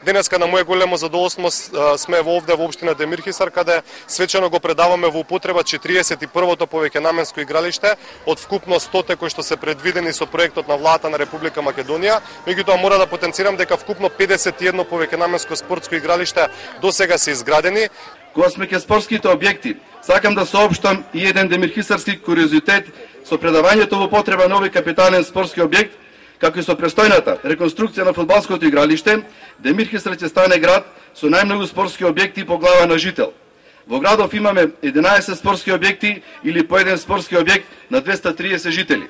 Денеска на моje големо задоволство сме овде во општина Демирхисар, каде свечено го предаваме во употреба 41-то повеќенамensко игралиште од вкупно 100 кои што се предвидени со проектот на владата на Република Македонија. Меѓутоа мора да потенцирам дека вкупно 51 повеќенаменско спортско игралиште досега се изградени. Кога сме ке спортските објекти, сакам да соопштам и еден демирхисарски куриозитет со предавањето во употреба на овој капитален спортски објект. Како и со престојната реконструкција на фудбалското игралиште, Демирхисар ќе стане град со најмногу спортски објекти по глава на жител. Во градов имаме 11 спортски објекти или по еден спортски објект на 230 жители.